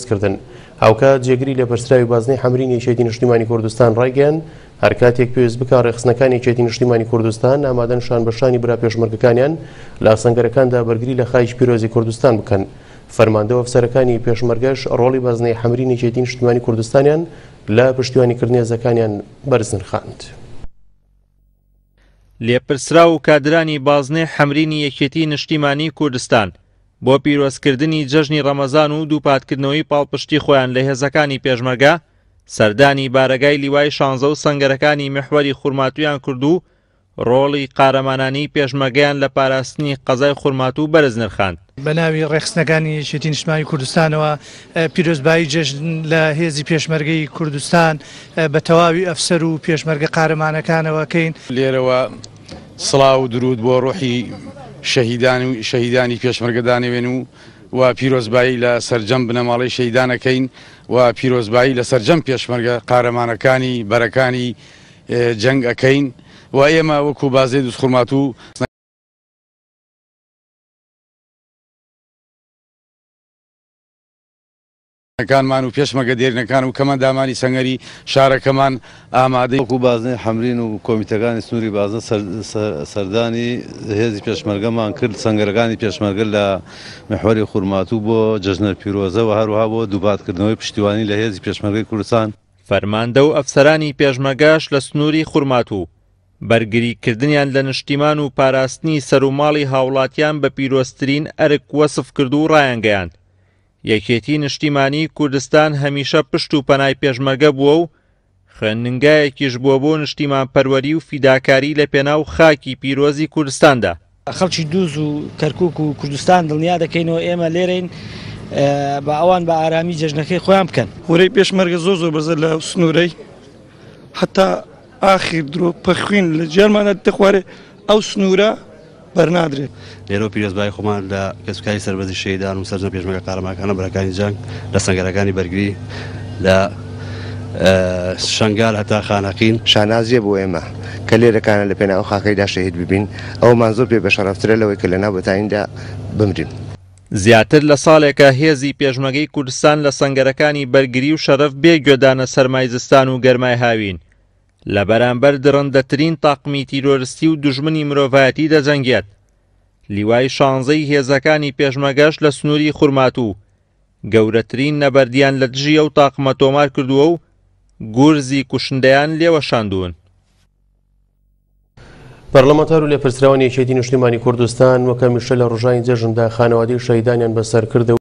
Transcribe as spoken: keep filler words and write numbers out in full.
کردن. هاوکات جێگری لێپرسراوی بازنەی حەمرینی یەکێتی نیشتیمانی کوردستان ڕایگەیاند هەر کاتێک پێویست بکا ڕێکخستنەکانی یەکێتی نیشتیمانی کوردستان ئامادەن شان بە شانی برا پێشمەرگەکانیان لە سەنگەرەکاندا بەرگری لە خاکی پیرۆزی کوردستان بکەن. فەرماندە و ئەفسەرەکانی پێشمەرگەش ڕۆڵی بازنەی حەمرینی یەکێتی نیشتیمانی کوردستانیان لە پشتیوانیکردنی هێزەکانیان بەرز نرخاند. لێپرسراو و کادرانی بازنەی حەمرینی یەکێتی نیشتیمانی کوردستان بۆ پیرۆزکردنی جەژنی ڕەمەزان و دووپاتکردنەوەی پاڵپشتی خۆیان لە هێزەکانی پێشمەرگە سەردانی بارەگای لیوای شانزە و سەنگەرەکانی میحوەری خورماتوویان کرد و ڕۆڵی قارەمانانی پێشمەرگەیان لە پاراستنی قەزای خورماتوو بەرز نرخاند. بە ناوی ڕێکخستنەکانی یەکێتی نیشتمانی کوردستانەوە پیرۆزبایی جەژن لە هێزی پێشمەرگەی کوردستان بە تەواوی ئەفسەر و پێشمەرگە قارەمانەکانەوە کەین. لێرەوە سڵاو و درود بۆ ڕۆحی شەهیدان و شەهیدانی پێشمەرگەدانەوێن و و پیرۆزبایی لە سەرجەم بنەماڵەی شەهیدانەکەین و پیرۆزبایی لە سەرجەم پێشمەرگە قارەمانەکانی بەرەکانی جەنگ ئەکەین و ئێمە وەکو بازنەی دووزخورماتوو کانمان و پێشمەرگە دێرینەکان و کەمەندامانی سەنگەری شارەکەمان ئامادەی. وەکو بازنەی حەمرین و کۆمیتەکانی سنووری بازنە سەردانی هێزی پێشمەرگەمان کرد، سەنگەرەکانی پێشمەرگە لە میحوەری خورماتوو بۆ جەژنە پیرۆزە و هەروەها بۆ دووپاتکردنەوەی پشتیوانی لە هێزی پێشمەرگەی کوردستان. فەرماندە و ئەفسەرانی پێشمەرگەش لە سنووری خورماتوو بەرگریکردنیان لە نیشتیمان و پاراستنی سەروماڵی هاوڵاتیان بە پیرۆزترین ئەرک وەسف کرد و ڕایانگەیاند یەکێتی نیشتیمانی کوردستان هەمیشە پشت و پەنای پێشمەرگە بووە و خوێندنگایەکیش بووە بۆ نیشتیمان پەروەری و فیداکاری لە پێناو خاکی پیرۆزی کوردستاندا. خەڵکی دووز و کەرکوک و کوردستان دڵنیا دەکەینەوە ئێمە لێرەین بە ئەوان بە ئارامی جەژنەکەی خۆیان بکەن. ورەی پێشمەرگە زۆر زۆر بەرزە لە سنوورەی حتا ئاخیر درۆ پەخوین لە جیانمانە دەخوارێ ئەو سنوورە بەرنادرێت. لێرەوە پیرۆزبایی خۆمان لە کەسوکاری سەربەرزی شەهیدان و سەرجەم پێشمەرگە قارەمانەکانە بەرەکانی جەنگ لە سەنگەرەکانی بەرگری لە شەنگال هەتا خانەقین. شانازیە بۆ ئێمە کە لێرەکانە لە پێناو خاکەیدا شەهید ببین، ئەومان زۆر پێ بەشەرەفترە لەوەی کە لەناو بەتانیدا بمرین. زیاتر لە ساڵێکە هێزی پێشمەرگەی کوردستان لە سەنگەرەکانی بەرگری و شەرەف بێ گوێدانە سەرمای زستان و گەرمای هاوین لە بەرامبەر دڕندەترین تاقمی تیرۆرستی و دوژمنی مرۆڤایەتی دەجەنگێت. لیوای شانزەی هێزەکانی پێشمەرگەش لە سنووری خورماتوو گەورەترین نەبەردیان لە دژی ئەو تاقمە تۆمار کردووە و گورزی کوشندەیان لێوەشاندوون. پەرلەمانتار و لێپرسراوانی یەکێتی نیشتیمانی کوردستان وەک هەمیشە لە ڕۆژانی جەژندا خانەوادەی شەهیدانیان بەسەر کردەوە.